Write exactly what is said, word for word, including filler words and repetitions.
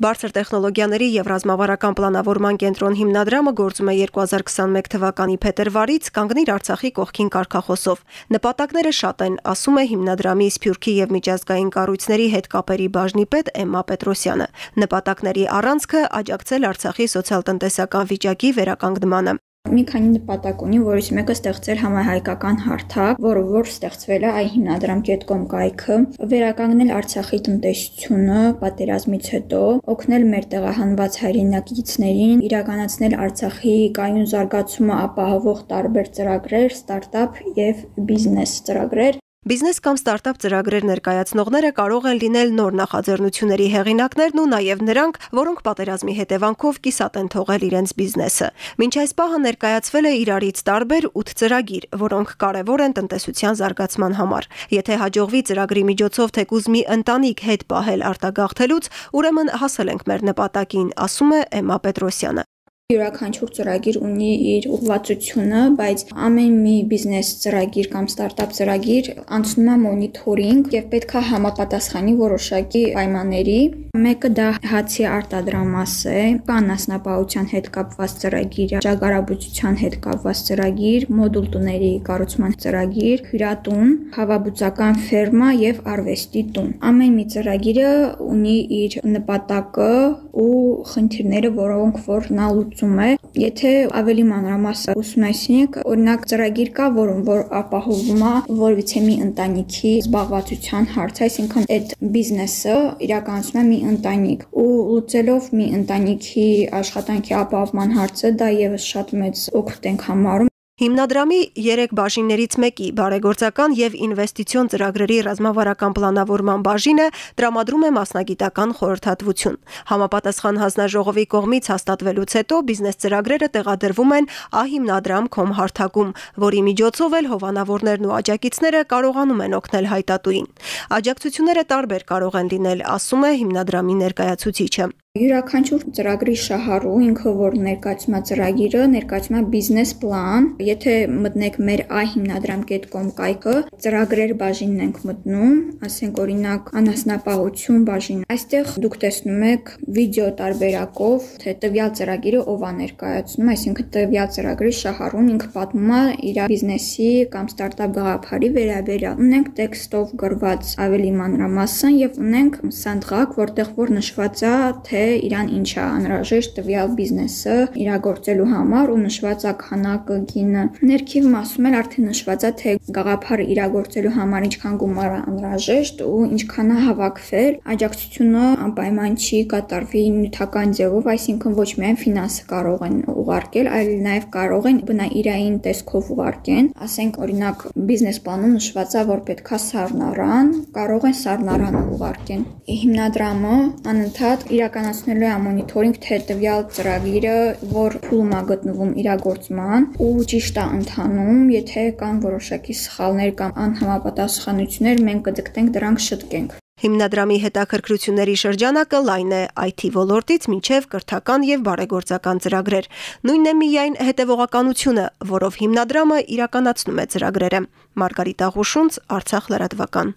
Բարձր տեխնոլոգիաների և ռազմավարական պլանավորման կենտրոն հիմնադրամը գործում է երկու հազար քսանմեկ թվականի փետրվարից կանգնիր Արցախի կողքին կարգախոսով։ Նպատակները շատ են, ասում է հիմնադրամի Սփյուռքի և միջազգային կառույցների հետ կապերի բաժնի պետ Էմմա Պետրոսյանը։ Նպատակների առանցքը աջակցել Արցախի սոցիալ-տնտեսական վիճակի վերականգնմանը։ Մի քանի նպատակ ունի, որից մեկը ստեղծել համահայկական հարթակ, որը որ ստեղծվել է այ հիմնադրամ կետ կոմ կայքը, վերականգնել Արցախի տնտեսությունը պատերազմից հետո, օգնել մեր տեղահանված հայրենակիցներին, իրականացնել Արցախի կայուն զարգացումը ապահովող տարբեր ծրագրեր, ստարտափ և բիզնես ծրագրեր։ Բիզնես կամ ստարտափ ծրագրեր ներկայացնողները կարող են լինել նոր նախաձեռնությունների հեղինակներն ու նաև նրանք, որոնք պատերազմի հետևանքով կիսատ են թողել իրենց բիզնեսը։ Մինչ այս պահը ներկայացվել է իրարից տարբեր ութ ծրագիր, որոնք կարևոր են տնտեսության զարգացման համար։ Եթե հաջողվի ծրագրի միջոցով թեկուզ մի ընտանիք հետ պահել արտագաղթելուց, ուրեմն հասել ենք մեր նպատակին, ասում է Էմմա Պետրոսյանը։ Յուրաքանչյուր ծրագիր ունի իր ուղղվածությունը, բայց ամեն մի բիզնես ծրագիր կամ ստարտափ ծրագիր անցնում է մոնիթորինգ եւ պետք է համապատասխանի որոշակի պայմանների։ Մեկը դա հացի արտադրամաս է, կա անասնապահության հետ կապված ծրագիր, ճագարաբուծության հետ կապված ծրագիր, մոդուլ տուների կառուցման ծրագիր, հյուրատուն, խավաբուծական ֆերմա եւ արվեստի տուն։ Ամեն մի ծրագիրը ունի իր նպատակը ու խնդիրները, որոնք որ նա լուծում է։ Եթե ավելի մանրամասն ուսումնասիրենք, օրինակ ծրագիր կա, որում որ ապահովում է որևիցե մի ընտանիքի զբաղվածության հարցը, այսինքն այդ բիզնեսը իրականացնում է մի ընտանիք ու լուծելով մի ընտանիքի աշխատանքի ապահովման հարցը, դա եւս շատ մեծ օգուտ ենք համարում։ Հիմնադրամի երեք բաժիններից մեկի բարեգործական և ինվեստիցիոն ծրագրերի ռազմավարական պլանավորման բաժինը տրամադրում է մասնագիտական խորհրդատվություն։ Համապատասխան հանձնաժողովի կողմից հաստատվելուց հետո բիզնես ծրագրերը տեղադրվում են ահիմնադրամ կոմ հարթակում, որի միջոցով էլ հովանավորներն ու աջակիցները կարողանում են օգնել հայտատուին։ Աջակցությունները տարբեր կարող են լինել, ասում է հիմնադրամի ներկայացուցիչը։ Յուրաքանչյուր ծրագրի շահառու ինքը որ ներկայացում է ծրագիրը, ներկայացում է բիզնես պլան։ Եթե մտնեք մեր ահիմնադրամ կետ կոմ կայքը, ծրագրեր բաժինն ենք մտնում, ասենք օրինակ անասնապահություն բաժին։ Այստեղ դուք տեսնում եք վիդեո տարբերակով, թե տվյալ ծրագիրը ով է ներկայացնում, այսինքն տվյալ ծրագրի շահառուն ինքը պատմում է իր բիզնեսի կամ ստարտափ գաղափարի վերաբերյալ։ Ունենք տեքստով գրված ավելի մանրամասն եւ ունենք սանդղակ, որտեղ որ նշված է թե իրան ինչ է անհրաժեշտ տվյալ բիզնեսը իրագործելու համար ու նշված է քանակը, գինը։ Ներքև մասում էլ արդեն նշված է թե գաղափարը իրագործելու համար ինչքան գումար է անհրաժեշտ ու ինչքան է հավաքվել։ Աջակցությունը անպայման չի կատարվի նյութական ձևով, այսինքն ոչ միայն ֆինանսը կարող են ուղարկել, այլ նաև կարող են բնաիրային տեսքով ուղարկեն։ Ասենք օրինակ բիզնես պլանում նշված է որ պետքա սառնարան, կարող են սառնարանը ուղարկեն։ Հիմնադրամը անընդհատ իրականացնելու է մոնիթորինգ թե տվյալ ծրագիրը որ փուլում է գտնվում իրագործման ու ճիշտ է ընթանում, եթե կան որոշակի սխալներ կամ անհամապատասխանություններ, մենք կձգտենք դրանք շտկենք։ Հիմնադրամի հետաքրքրությունների շրջանակը լայն է այ թի ոլորտից մինչև կրթական և բարեգործական ծրագրեր։ Նույնն է միայն հետևողականությունը, որով հիմնադրամը իրականացնում է ծրագրերը։ Մարգարիտ Աղուշունց, Արցախ լրատվական։